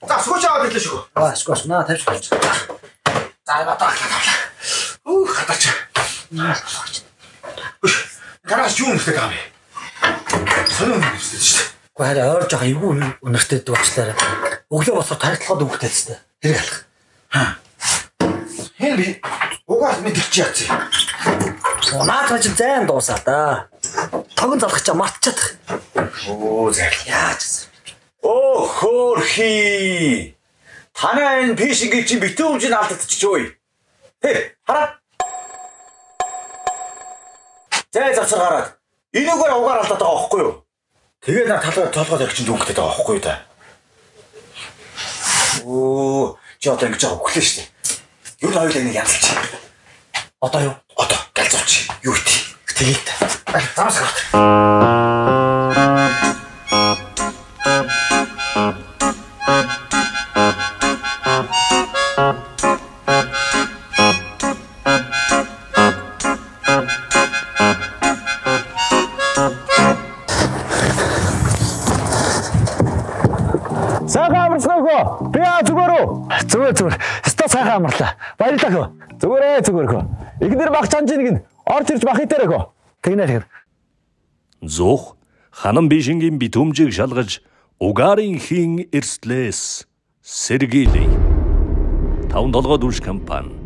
За скотч аваад ирлээ шүү. Скотч наа тавьж болж. За ятаа. Хатаач. Гараж юу нэртэй гав. Сонир нэртэй шүү. Гэхдээ хараа ойр жоохон эвгүй өнөртэй дүүчлаарай. Өглөө босоор тархитлахад өвгтэй тест. Хэрэг алах. Хин би угаас мэдчих яац. Наадаж зайн дуусаа да. Тогон залгах чам мартчихад. Оо зай. Яаж. Оо хөөрхий. Танай энэ фишингийн чи битүү хэмжээнд алдагдчих үе. Хэ хараа. Зай завсар гараад. Энэгээр угаар алдаад байгаа байхгүй юу? Тэгээ на толгой зарих чинь дүнхтэй байгаа байхгүй юу та. Оо чи одоо ингэж байгаа өглөө шүү дээ. Юу л хоёулаа нэг янзлж. Одоо юу? Одоо галзууч. Юу ити? Тэгээд Замс гарт. Сайхан амарснаа. Би зүгээр үү? Зүгээр. Өстой сайхан амарлаа. Баярлалаа хөө. Зүгээр хөө. Игнэр баг чанжиныг нь орж ирж бах хитэрэ хөө. Тэгнэ. Зух ханам бишингийн битүүмжийг шалгаж угаарын хийн эрслээс сэргийлээ. 5 толгой дүрш компани